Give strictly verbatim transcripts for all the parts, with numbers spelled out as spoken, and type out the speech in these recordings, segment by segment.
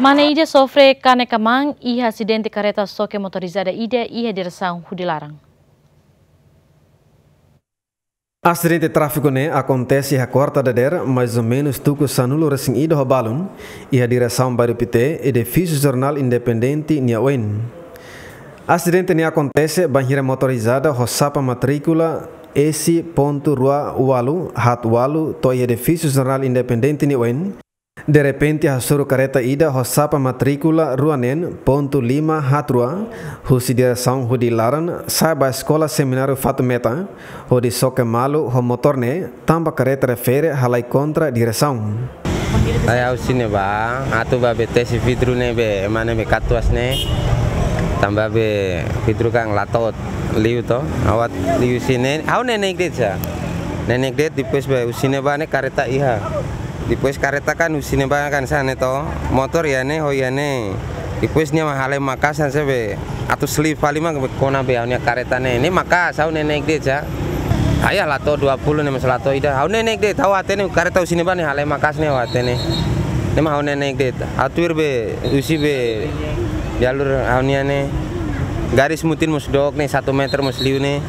Mane ida sofre kanek-kmaan iha asidente kareta xoke motorizada ida iha diresaun Hudi Laran. Asidente tráfiku ne'e akontese iha kuarta dadeer, mais ou menus tuku sanulu-resin-ida ho balun, iha diresaun Bairru Pité, edifísiu Jornál Independente nia oin. Asidente ne'e akontese bainhira motorizada ho xapa matríkula S pontu rua ualu haat ualu to'o iha edifísiu Jornál Independente nia oin, derrepente hasoru kareta ida ho xapa matríkula rua neen pontu lima haat rua, husi diresaun Hudi Laran sa'e ba Eskola Semináriu Fatumeta, hodi xoke malu ho motór ne'e, tanba kareta refere halai kontra diresaun. Ai, ha'u husi ne'ebá, atu bá be tesi vidru ne'ebé, ema ne'ebé katuas ne'e, tanba be vidru kan la to'o liu to, ha'u atu liu husi ne'e, ha'u neineik de'it sá. Neineik de'it, depois be husi ne'ebá ne'e kareta iha. Depois kareta kan husi ne'ebá kan hanesan ne'e to, motór iha ne'e, ho iha ne'e. Depois nia mak halai maka'as hanesan be atu slip fali mak kona be ha'u-nia kareta ne'e. Ne'e maka'as, ha'u neineik de'it sá. Ai, la to'o dua puluh ne'e mós la to'o ida. Ha'u neineik de'it, ha'u hatene kareta husi ne'ebá ne'e halai maka'as ne'e ha'u hatene. Ne'e mak ha'u neineik de'it. Ha'u tuir be, husi be jalur ha'u-nian ne'e. Garis mutin mós dook ne'e, satu meter mós liu ne'e.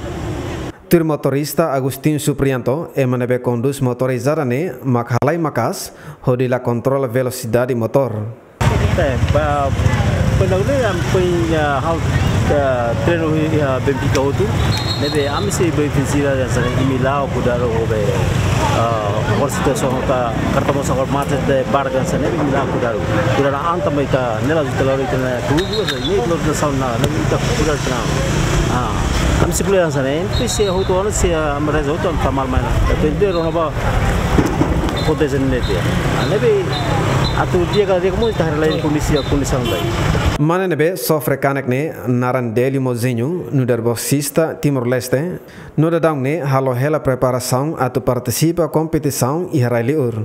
Tuir motorista Agustin Suprianto, ema ne'ebé kondús motorizada ne'e mak halai maka'as, hodi la kontrola velosidade motór. Eh, ba, pernah udah yang punya hal, eh, treinu, eh, Benfica hotu. Ne'ebé ami sei be ofensira hanesan ne'e, imi la'o kudaru ho be, eh, hor situasaun ka karta mosa hor mate de barga hanesan ne'e, imi la'o kudaru. Kudaru anta mai ka nela juta lori tena kubu, hanesan ne'e, lori na sauna, ne'e ita kudaru tena. Ah, ami sei bele hanesan ne'e, imi sei hotu ona sei, ah, ami reza hotu, ami tamar mai ona. Atu ende rona ba, akontese ne'e de'it. Ah, ne'ebé atu di'ak ka di'ak kamu tahar lain kondisi, kondisi andai. Mane ne'ebé sofre kanek ne'e naran Delio Mozinho, nu'udar boxista Timor-Leste, no daudaun ne'e halo hela preparasaun atu partisipa kompetisaun iha rai-li'ur.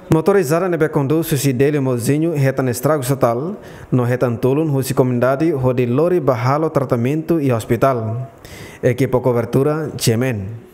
Motorizada ne'ebé kondús husi Delio Mozinho hetan estragu totál, no hetan tulun husi komunidade hodi lori bá halo tratamentu iha ospitál. Ekipa kobertura, G M N.